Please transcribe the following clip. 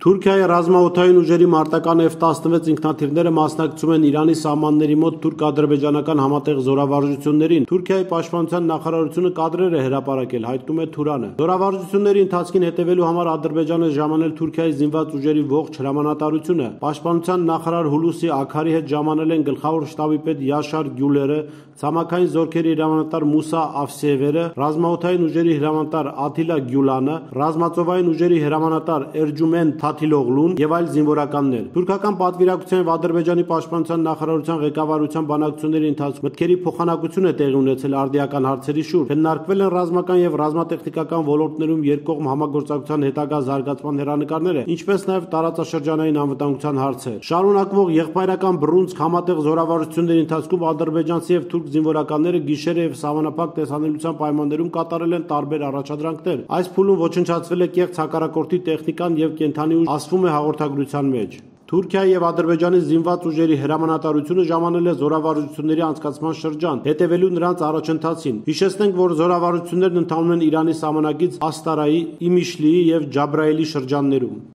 Թուրքիայի ռազմաօդային ուժերի մարտական F-16 ինքնաթիռները մասնակցում են Իրանի սահմանների մոտ թուրք-ադրբեջանական համատեղ զորավարժություններին։ Թուրքիայի պաշտպանության նախարարությունը կադրեր է հրապարակել, հայտնում է Թուրանը։ Զորավարժությունների ընթացքին հետևելու համար Ադրբեջանը ժամանել Թուրքիայի զինված ուժերի ողջ հրամանատարությունը։ Պաշտպանության նախարար Հուլուսի Աքարի հետ ժամանել են գլխավոր շտաբի պետ Յաշար Գյուլերը, ցամաքային զորքերի հրամանատար Մուսա Աֆսիևերը, ռազմաօդային ուժերի հրամանատար Աթիլա Գյուլանը, ռազմածովային ուժերի հրամանատար Էրջումեն Թաթիլօղլուն եւ այլ զինվորականներ։ Թուրքական պատվիրակության եւ Ադրբեջանի պաշտպանության նախարարության ղեկավարության բանակցությունների ընթացքում մտքերի փոխանակություն է տեղի ունեցել արդիական հարցերի շուրջ։ Քննարկվել են ռազմական եւ ռազմատեխնիկական ոլորտներում երկկողմ համագործակցության հետագա զարգացման հեռանկարները, ինչպես նաեւ տարածաշրջանային անվտանգության հարցեր։ Շարունակվող եղբայրական բռունցք համատեղ զորավարժությունների ընթացքում ադրբեջանցի եւ թուրք զինվորականները գիշերը եւ սահմանափակ տեսանելիության պայմաններում կատարել են տարբեր առաջադրանքներ։ Այս փուլում ոչնչացվել է կեղծ հակառակորդի տեխնիկան եւ կենթանի ուժ, ասվում է հաղորդագրության մեջ։ Թուրքիայի եւ Ադրբեջանի զինված ուժերի հրամանատարությունը ժամանել է զորավարժությունների անցկացման շրջան, հետևելու նրանց առաջընթացին։ Հիշեցնենք, որ զորավարժություններն ընթանում են Իրանի սահմանագիծ Աստարայի, Իմիշլիի եւ Ջաբրայելի շրջաններում։